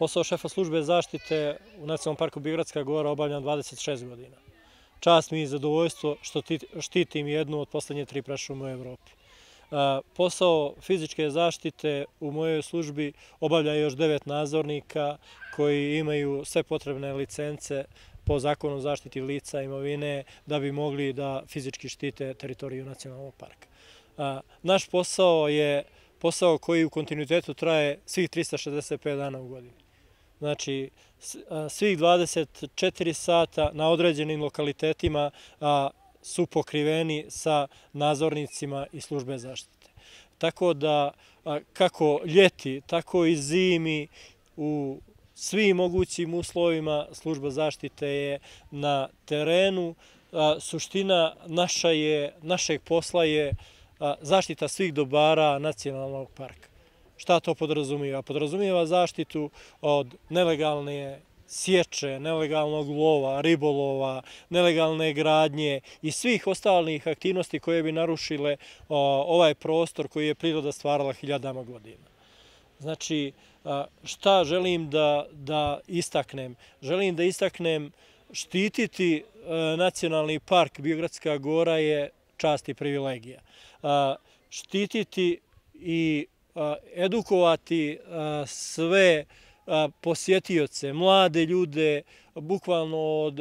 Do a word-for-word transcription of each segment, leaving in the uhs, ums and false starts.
Posao šefa službe zaštite u Nacionalnom parku Biogradska gora obavljam dvadeset šest godina. Čast mi i zadovoljstvo što štitim jednu od poslednje tri prašume u Evropi. Posao fizičke zaštite u mojoj službi obavlja još devet nadzornika koji imaju sve potrebne licence po zakonu o zaštiti lica i imovine da bi mogli da fizički štite teritoriju nacionalnog parka. Naš posao je posao koji u kontinuitetu traje svih trista šezdeset pet dana u godini. Znači, svih dvadeset četiri sata na određenim lokalitetima su pokriveni sa nadzornicima i službe zaštite. Tako da, kako ljeti, tako i zimi, u svim mogućim uslovima služba zaštite je na terenu. Suština našeg posla je zaštita svih dobara nacionalnog parka. Šta to podrazumijeva? Podrazumijeva zaštitu od nelegalne sječe, nelegalnog lova, ribolova, nelegalne gradnje i svih ostalih aktivnosti koje bi narušile ovaj prostor koji je priroda stvarala hiljadama godina. Znači, šta želim da istaknem? Želim da istaknem štititi Nacionalni park Biogradska gora je čast i privilegija. Štititi i edukovati sve posjetioce, mlade ljude, bukvalno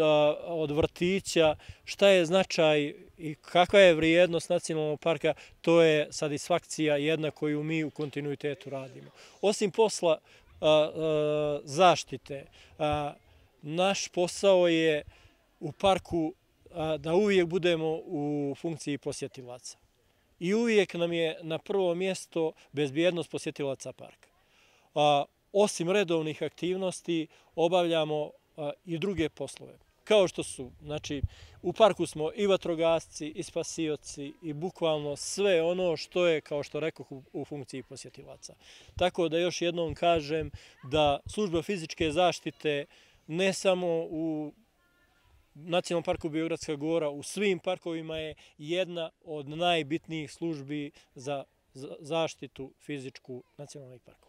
od vrtića, šta je značaj i kakva je vrijednost nacionalnog parka, to je satisfakcija jedna koju mi u kontinuitetu radimo. Osim posla zaštite, naš posao je u parku da uvijek budemo u funkciji posjetilaca. I uvijek nam je na prvo mjesto bezbjednost posjetilaca parka. Osim redovnih aktivnosti obavljamo i druge poslove. Kao što su, znači, u parku smo i vatrogasci, i spasioci, i bukvalno sve ono što je, kao što rekoh, u funkciji posjetilaca. Tako da još jednom kažem da služba fizičke zaštite ne samo u Nacionalnom parku Biogradska gora, u svim parkovima je jedna od najbitnijih službi za zaštitu fizičku nacionalnih parkova.